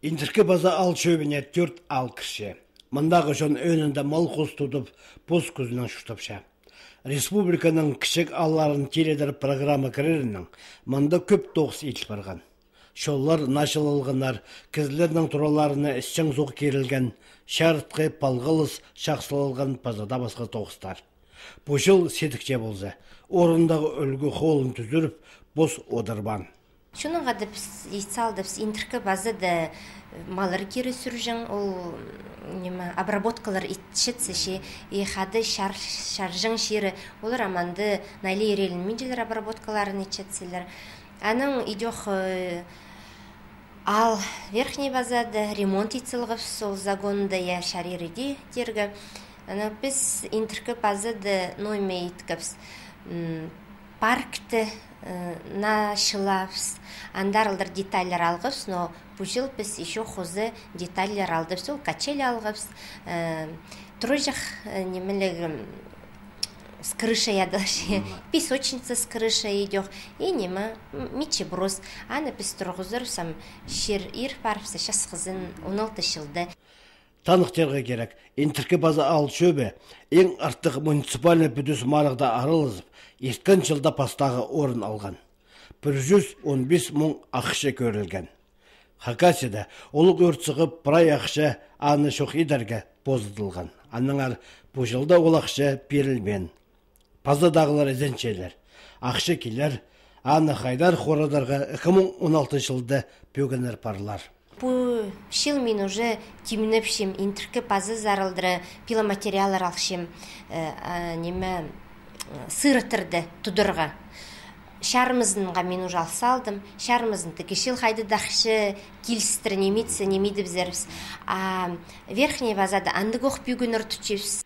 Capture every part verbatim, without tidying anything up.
Интіркі Паза аал чӧбіне тӧрт аал кірче. Мындағы чон ӧӧнінде мал-хус тудып, пос кӱзінең чуртапча. Республиканың кічіг аалларын тиледір программа кірерінең мында кӧп тоғыс иділ парған. Чоллар начылалғаннар, кізілернің тураларына ісчең суғ кирілген, чарытхы, палғалыс чахсылалған паза даа пасха тоғыстар. Пу чыл сидікче полза, орындағы ӱлгӱ холын тӱзіріп, пос одырбаан. Чоннаңар даа піс ит салдыбыс, Интіркі Пазада маллар кире сӱрҷең, ол, ниме, обработкалар итчетсе чи, и хада чар-, чарҷаң чирі, олар амды найлы иреленминчелер обработкаларын итчетселер. Анаң идӧк, э, аал Верхний Пазада ремонт ит салғабыс, ол загонда я чарир иди тирге. Анаң піс Интіркі Пазада ноо ниме иткебіс. М, паркты, э, начылабыс. Андар алдыр детальлар алғабыс, но пу чыл піс ещё хоза детальлар алдыбыс. Ол качели алғабыс, э, тураҷах, э, нимелег, м, с крышей адалча, песочница с крышей идӧк, и ниме, м, мичебрус. Аны піс турғызарбыс, ам чир ир парыбысса, часхызын, он алты чылда. Таныхтирға кирек, Интіркі Паза аал чӧбі иң артых муниципальный пӱдӱс марығда аралазып, ирткен чылда пастағы орын алған. Пір чӱс он пис муң ахча кӧрілген. Хакасияда улуғ ӧрт сығып, прай ахча аны чох идерге позыдылған. Аннаңар пу чылда ол ахча пирілбеен. Пазадағылар ізенчелер. Ахча килер, аны хайдар хорадарға ікі муң он алты чылда пӧгіннер парлар. Пу чыл мин уже тимнепчем, Интіркі Пазазар алдыра пиломатериаллар алчам, э, а, ниме, э, сыраттарды тударға. Чарымызынға мин уже ал салдым, чарымызын тігі чыл хайда даа ахча килістіре нимеде, нимедібізербіс. А Верхний Пазада андағох пӧгіннер тутчабыс.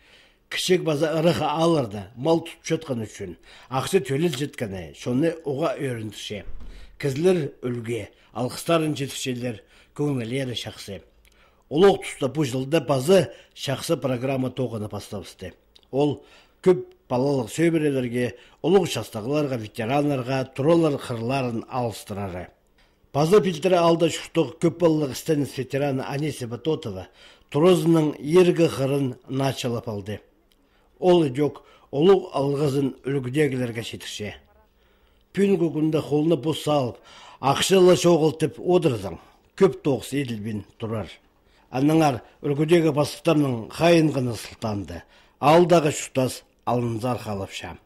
Кічіг паза ырах аалларда мал тутчатхан ӱчӱн ахча тӧлелчеткені чонны уғаа ӧріндірче. Кізілер ӱлгӱ, алғыстарын читірчелер, кӧңнілері чахсы. Олох туста пу чылда паза чахсы программа тоғынып пастабысты. Ол кӧп палалығ сӧбірелерге, улуғ частығларға, ветераннарға туралар хырларын алыстырары. Паза пилтірі аалда чуртығ кӧп палалығ істеніс ветераны Анисия Батотова туразының иргі хырын начылап алды. Ол идӧк улуғ алғызын ӱлгӱдегілерге читірче. Пӱӱнгі кӱнде холны пос салып, ахча ла чоғыл тіп одырзаң, кӧп тоғыс иділбин турар. Аннаңар ӱлгӱдегі пастыхтарның хайынғаны сылтаанда аалдағы чуртас алынзар халапча.